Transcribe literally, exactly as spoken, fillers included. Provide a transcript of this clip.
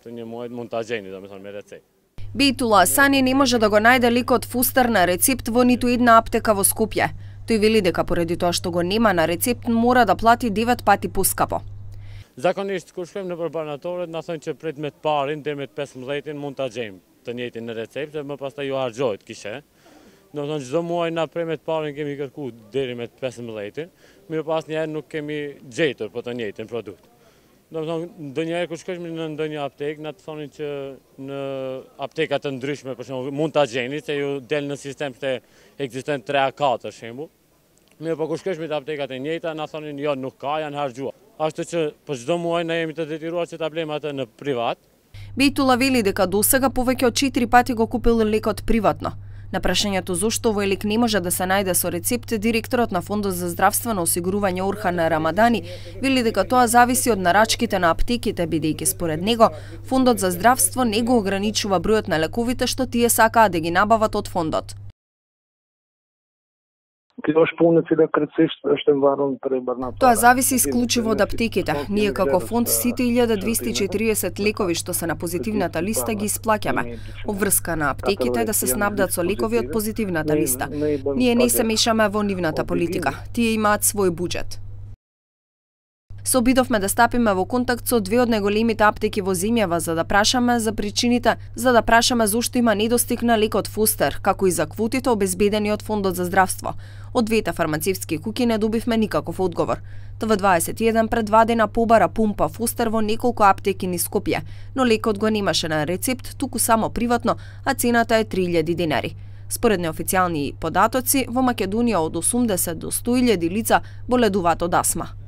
ние мојот монтажени, да ме ме рецепт. Бейтула Асани не може да го најде лекот Фустер на рецепт во ниту една аптека во Скопје. Тој вели дека поради тоа што го нема на рецепт мора да плати девет пати поскапо. Zakonisht kur shkojmë në përbanatorët, na thonë që prit me të parin deri me të pesëmbëdhjetin mund ta gjejmë të njëjtin në recept, dhe më pastaj ju harxhohet kishe. Do të thonë çdo muaj na prej me të parin kemi kërku deri me të pesëmbëdhjetin, mirë pas njerë nuk kemi gjetur po të njëjtin produkt. Do të thonë ndonjëherë kur shkojmë në ndonjë aptekë, na të thonin që në apteka të ndryshme për shembull mund ta gjeni se ju del në sistem se ekzistojnë tre a katër shembull. Mirë po kur shkojmë te aptekat e njëjta na thonin jo nuk ka, janë harxhuar. Ashtu që për çdo muaj na jemi të detyruar që ta blejmë atë në privat. Бейтула вели дека досега повеќе од четири пати го купил лекот приватно. На прашањето зошто овој лек не може да се најде со рецепт, директорот на Фондот за здравствено осигурување Орхан Рамадани вели дека тоа зависи од нарачките на аптеките, бидејќи според него Фондот за здравство не го ограничува бројот на лековите што тие сакаат да ги набават од фондот. Тоа зависи исклучиво од аптеките. Ние како фонд сите илјада двесте и четириесет лекови што се на позитивната листа ги исплаќаме. Обврска на аптеките да се снабдат со лекови од позитивната листа. Ние не се мешаме во нивната политика. Тие имаат свој буџет. Се обидовме да стапиме во контакт со две од најголемите аптеки во земјава за да прашаме за причините, за да прашаме зошто има недостиг на лекот Фустер, како и за квотите обезбедени од Фондот за здравство. Од двете фармацевтски куќи не добивме никаков одговор. Т В дваесет и еден пред два дена побара пумпа Фустер во неколку аптеки низ Скопје, но лекот го немаше на рецепт, туку само приватно, а цената е три илјади денари. Според неофицијални податоци, во Македонија од осумдесет до сто илјади лица боледуваат од астма.